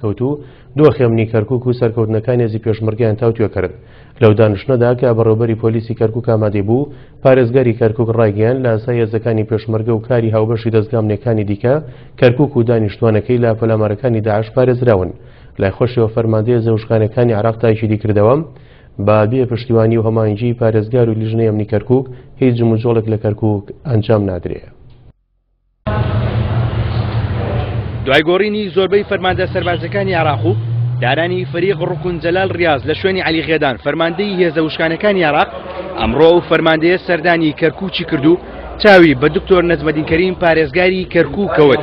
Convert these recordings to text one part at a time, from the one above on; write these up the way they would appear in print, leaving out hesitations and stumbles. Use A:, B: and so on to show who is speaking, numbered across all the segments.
A: کەوت و دۆخی ئەمنی کەرکوک و سەرکەوتنەکانی هێزی پێشمەرگەیان تاوتوێ کرد. لەو دانیشتنەدا کە بەڕێوەبەری پۆلیسی کەرکوک ئامادەی بوو، پارێزگاری کەرکوک ڕایگەیاند لە ئاسای هێزەکانی پێشمەرگە و کاری هاوبەشی دەزگا ئەمنیەکانی دیکە، کەرکوک و دانیشتوانەکەی لە پەلامارەکانی داعش پارێزراون. لای خۆشیەوە فەرماندەی هێزە وشکانیەکانی عێراق تاکیدی کردەوە، بە بێ پشتیوانی و هەماهەنگیی پارێزگار و لیژنەی ئەمنی کەرکوک هیچ جموجۆڵێک لە کەرکوک ئەنجام نادرێ.
B: دوای گۆڕینی زۆربەی فەرماندە سەربازەکانی عێراق و دانانی فەریق ڕوکن جەلال ڕیاز لە شوێنی عەلی غێدان فەرماندەی هێزە وشکانەکانی عێراق ئەمڕۆ ئەو فەرماندەیە سەردانی کەرکووکی کرد و چاوی بە دکتۆر نەجمەدین کەریم پارێزگاری کەرکووک کەوت.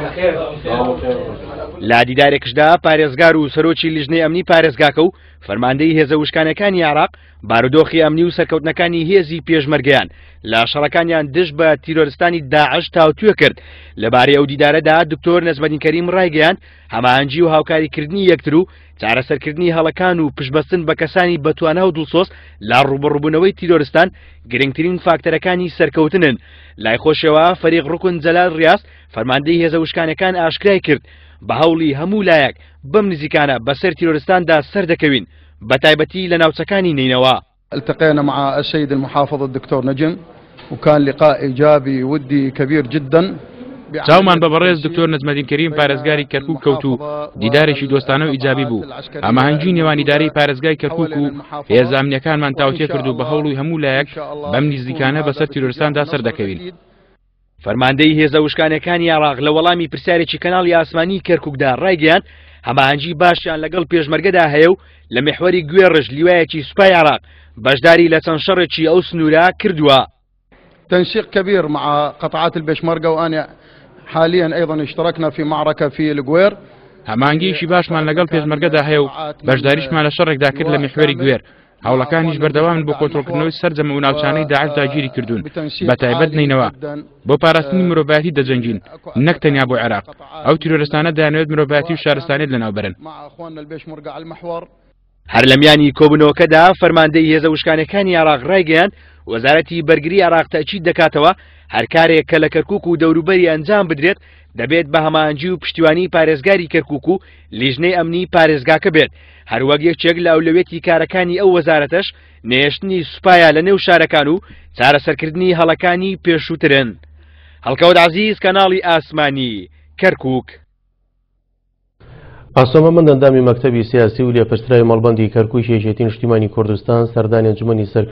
B: لە دیدارێکشدا پارێزگار و سەرۆکی لیژنەی ئەمنی پارێزگاکە و فەرماندەی هێزە وشکانەکانی عێراق بارودۆخی ئەمنی و سەرکەوتنەکانی هێزی پێشمەرگەیان لە شەڕەکانیان دژ بە تیرۆرستانی داعش تاوتوێ کرد. لەبارەی ئەو دیدارەدا دکتۆر نەجمەدین کەریم ڕایگەیاند هەماهەنگی و هاوکاریکردنی یەکتر و چارەسەرکردنی هەڵەکان و پشتبەستن بە کەسانی بەتوانا و دڵسۆز لە ڕووبەڕووبوونەوەی تیرۆرستان گرنگترین فاکتەرەکانی سەرکەوتنن. لای خۆشیەوە فەریق ڕوکن جەلال ڕیاز فەرماندەی هێزە وشکانەکان ئاشکرای کرد بە هەوڵی هەموو لایەک بەم نزیکانە بەسەر تیرۆرستاندا سەردەکەوین بەتایبەتی لە ناوچەکانی نەینەوا.
C: التقينا مع السيد المحافظ الدكتور نجم وكان لقاء إيجابي ودي كبير جدا.
D: چاومان بە بەڕێز دکتۆر نەجمەدین کەریم پارێزگاری کەرکوک کەوت و دیدارێکی دۆستانە و ئیجابی بوو. هەماهەنگی نێوان ئیدارەی پارێزگای کەرکوک و هێزە ئەمنییەکانمان تاوتوێ کرد و بە هەوڵی هەموو لایەک بەم نزیکانە بەسەر تیرۆرستاندا سەردەکەوین.
B: فەرماندەی هێزە وشکانیەکانی عێراق لە وەڵامی پرسیارێکی کەناڵی ئاسمانی کەرکوکدا ڕایگەیاند، هەماهەنگی باشیان لەگەڵ پێشمەرگەدا هەیە و لە میحوەری گوێڕژ لیوایەکی سوپای عێراق بەشداری لە چەند شەڕێکی ئەو سنوورە کردووە.
C: تنسيق كبير مع قطعات البيشمركة وأنا حاليا أيضا اشتركنا في معركة في القوير.
D: هەماهەنگییەکی باشمان لەگەڵ پێشمەرگەدا هەیە و بەشداریشمان لە شەڕێکدا کرد لە میحوەری گوێر، هەوڵەکانیش بەردەوامن بۆ کۆنترۆڵکردنەوەی سەرجەم ئەو ناوچانەی داعش داگیری کردوون، بەتایبەت نەینەوا. بۆ پاراستنی مرۆڤایەتی دەجەنگین، نەک تەنیا بۆ عێراق. ئەو تیرۆرستانە دەیانەوێت مرۆڤایەتی و شارستانیەت لەناوبەرن.
B: هەر لە میانی کۆبوونەوەکەدا فەرماندەی هێزە وشکانیەکانی عێراق ڕایگەیاند، وەزارەتی بەرگری عێراق تەئکید دەکاتەوە هەر کارێک کە لە کەرکوک و دەوروبەری ئەنجام بدرێت دەبێت بە هەماهەنگی و پشتیوانی پارێزگاری کەرکوک و لیژنەی ئەمنی پارێزگاکە بێت، هەروەک یەکێک لە ئەولەویەتی کارەکانی ئەو وەزارەتەش نەهێشتنی سوپایە لە نێو شارەکان و چارەسەرکردنی هەڵەکانی پێشووترن. هەڵکەوت عەزیز، کەناڵی ئاسمانی، کەرکوک.
A: ئاسۆ مەمەند ئەندامی مەکتەبی سیاسی و لێپرسراوی مەڵبەندی کەرکوکی یەکێتی نیشتیمانی کوردستان سەردانی ئەنجومەنی سەرکردایەتی.